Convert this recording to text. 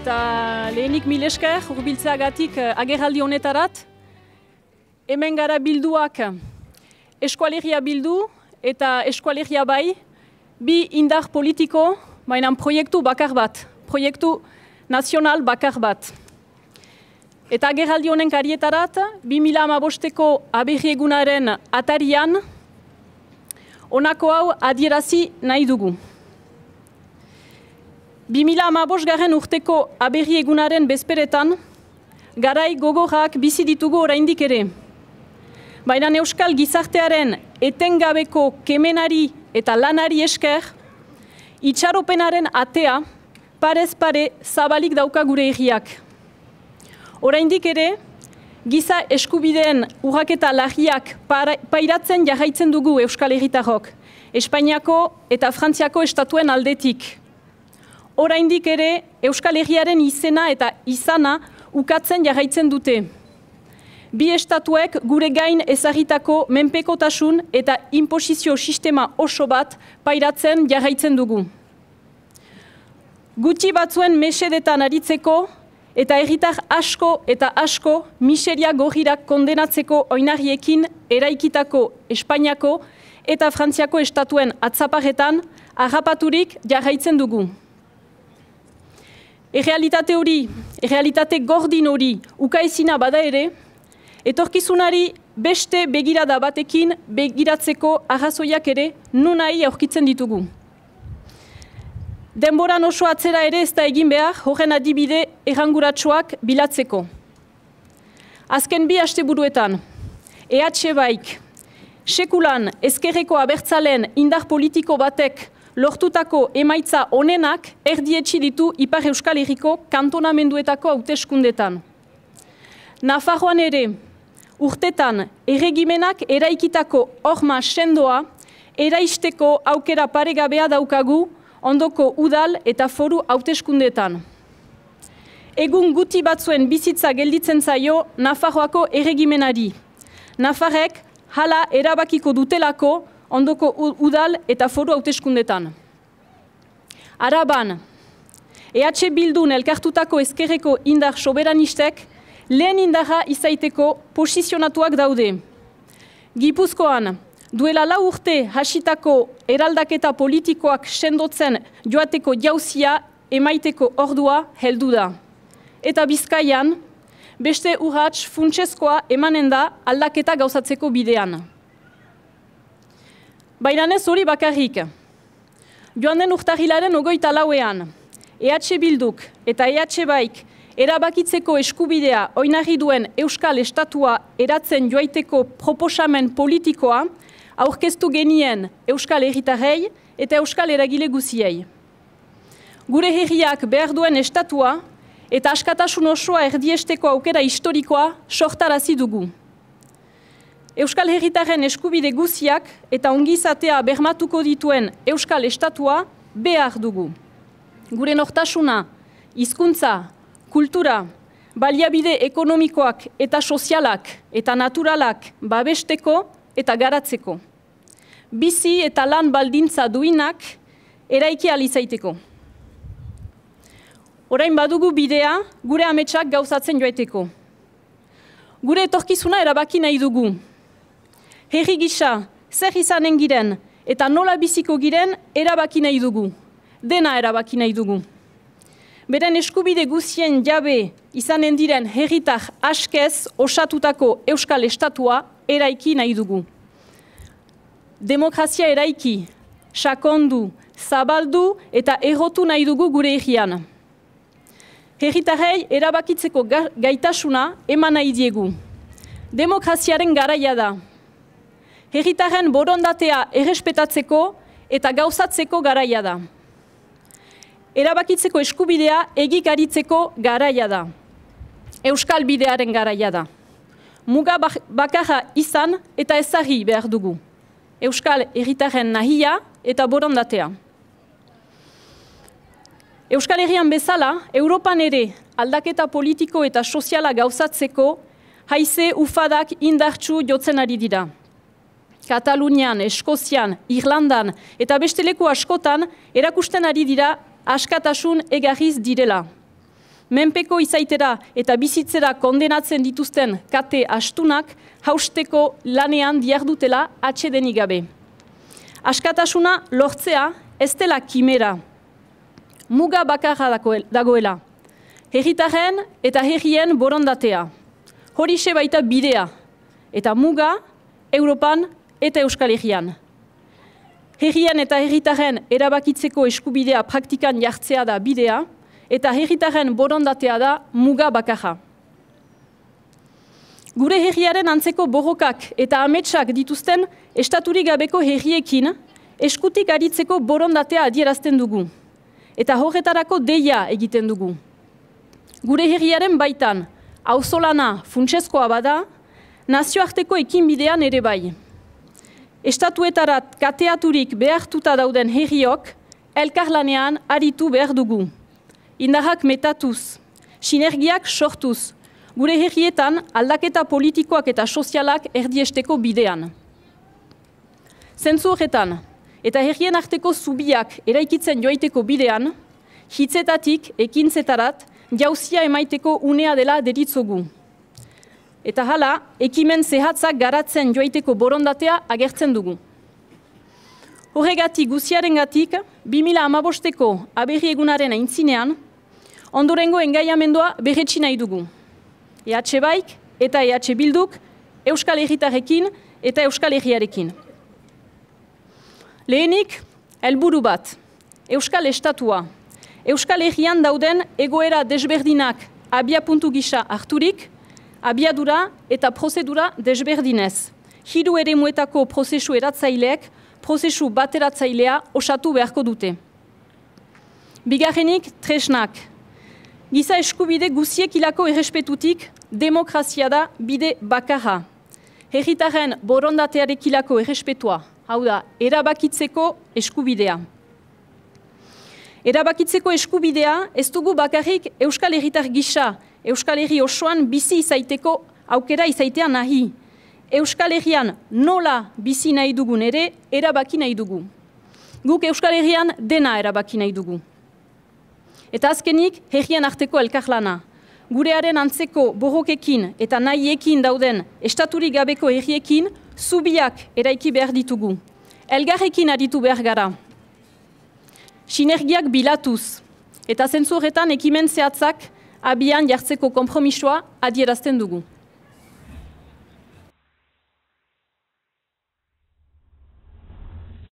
Eta lehenik mil esker hurbiltzeagatik agerraldi honetarat. Hemen gara bilduak Eskualegia Bildu eta Eskualegia Bai, bi indar politiko, baina proiektu bakar bat, proiektu nazional bakar bat. Eta agerraldi honen karietarat, 2015ko aberriegunaren atarian, honako hau adierazi nahi dugu. 2015 urteko aberriegunaren bezperetan, garai gogorrak bizi ditugu oraindik ere. Baina euskal gizartearen etengabeko kemenari eta lanari esker, itxaropenaren atea parez pare zabalik dauka gure herriak. Oraindik ere, giza eskubideen urraketa larriak pairatzen jarraitzen dugu euskal herritarrok, Espainiako eta Frantziako estatuen aldetik. Oraindik ere, euskal herriaren izena eta izana ukatzen jarraitzen dute. Bi estatuek gure gain ezagitako menpekotasun eta inposizio sistema oso bat pairatzen jarraitzen dugu. Gutxi batzuen mesedetan aritzeko eta herritar asko eta asko miseria gorrirak kondenatzeko oinarriekin eraikitako Espainiako eta Frantziako estatuen atzaparretan harrapaturik jarraitzen dugu. Errealitate hori, errealitate gordin hori ukaezina bada ere, etorkizunari beste begirada batekin begiratzeko arrazoiak ere nunai aurkitzen ditugu. Denboran oso atzera ere ez da egin behar horren adibide erranguratsuak bilatzeko. Azken bi asteburuetan, EH Baik, sekulan ezkerreko abertzalen indar politiko batek lortutako emaitza onenak erdietsi ditu Ipar Euskal Herriko kantonamenduetako hauteskundetan. Nafarroan ere, urtetan erregimenak eraikitako horma sendoa eraisteko aukera paregabea daukagu ondoko udal eta foru hauteskundetan. Egun guti batzuen bizitza gelditzen zaio Nafarroako erregimenari. Nafarrek hala erabakiko dutelako ondoko udal eta foru hauteskundetan. Araban, EH Bildun elkartutako ezkerreko indar soberanistek lehen indarra izaiteko posizionatuak daude. Gipuzkoan, duela 4 urte hasitako eraldaketa politikoak sendotzen joateko jauzia emaiteko ordua heldu da. Eta Bizkaian, beste urrats funtsezkoa emanen da aldaketa gauzatzeko bidean. Baina ez hori bakarrik. Joan den urtarrilaren 24ean, EH Bilduk eta EH Baik erabakitzeko eskubidea oinarri duen Euskal Estatua eratzen joaiteko proposamen politikoa aurkeztu genien Euskal Herritarrei eta Euskal eragile guziei. Gure herriak behar duen estatua eta askatasun osoa erdiesteko aukera historikoa sortarazi dugu. Euskal Herritarren eskubide guziak eta ongizatea bermatuko dituen Euskal Estatua behar dugu. Gure nortasuna, hizkuntza, kultura, baliabide ekonomikoak eta sozialak eta naturalak babesteko eta garatzeko. Bizi eta lan baldintza duinak eraiki ahal izaiteko. Orain badugu bidea gure ametsak gauzatzen joaiteko. Gure etorkizuna erabaki nahi dugu. Herri gisa, zer izanen giren eta nola biziko giren erabaki nahi dugu. Dena erabaki nahi dugu. Beren eskubide guzien jabe izanen diren herritar askez osatutako Euskal Estatua eraiki nahi dugu. Demokrazia eraiki, sakondu, zabaldu eta errotu nahi dugu gure herrian. Herritarrei erabakitzeko gaitasuna eman nahi diegu. Demokraziaren garaia da. Herritarren borondatea errespetatzeko eta gauzatzeko garaia da. Erabakitzeko eskubidea egikaritzeko garaia da. Euskal bidearen garaia da. Muga bakarra izan eta ezarri behar dugu. Euskal herritarren nahia eta borondatea. Euskal Herrian bezala, Europan ere aldaketa politiko eta soziala gauzatzeko haize ufadak indartsu jotzen ari dira. Katalunian, Eskozian, Irlandan eta beste leku askotan erakusten ari dira askatasun egarriz direla. menpeko izaitera eta bizitzera kondenatzen dituzten kate astunak hausteko lanean diardutela atsedenik gabe. Askatasuna lortzea ez dela kimera, muga bakarra dagoela. Herritarren eta herrien borondatea. Horixe baita bidea, eta muga Europan eta Euskal Herrian. Herrien eta herritarren erabakitzeko eskubidea praktikan jartzea da bidea, eta herritarren borondatea da muga bakarra. Gure herriaren antzeko borrokak eta ametsak dituzten estaturik gabeko herriekin eskutik aritzeko borondatea adierazten dugu, eta horretarako deia egiten dugu. Gure herriaren baitan, auzolana funtsezkoa bada, nazioarteko ekinbidean ere bai. Estatuetarat kateaturik behartuta dauden herriok, elkarlanean aritu behar dugu. Indarrak metatuz, sinergiak sortuz, gure herrietan aldaketa politikoak eta sozialak erdiesteko bidean. Zentzu horretan, eta herrien arteko zubiak eraikitzen joaiteko bidean, hitzetatik ekintzetarat jauzia emaiteko unea dela deritzogu. Eta hala, ekimen zehatzak garatzen joaiteko borondatea agertzen dugu. Horregatik guziarengatik, 2015ko aberri egunaren aintzinean, ondorengo engaiamendua berretsi nahi dugu. EH Baik eta EH Bilduk Euskal Herritarrekin eta Euskal Herriarekin. Lehenik, helburu bat, Euskal Estatua. Euskal Herrian dauden egoera desberdinak abiapuntu gisa harturik, abiadura eta prozedura desberdinez. Hiru eremuetako prozesu eratzaileek, prozesu bateratzailea osatu beharko dute. Bigarrenik, tresnak. Giza eskubide guziek hilako errespetutik, demokrazia da bide bakarra. Herritarren borondatearekilako errespetua, hau da, erabakitzeko eskubidea. Erabakitzeko eskubidea ez dugu bakarrik Euskal Herritar gisa, Euskal Herri osoan bizi izaiteko aukera izaitea nahi. Euskal Herrian nola bizi nahi dugun ere erabaki nahi dugu. Guk Euskal Herrian dena erabaki nahi dugu. Eta azkenik, herrien arteko elkarlana. Gurearen antzeko borrokekin eta nahiekin dauden estaturik gabeko herriekin zubiak eraiki behar ditugu. Elgarrekin aritu behar gara. Sinergiak bilatuz, eta zentzu horretan ekimen zehatzak abian jartzeko konpromisoa adierazten dugu.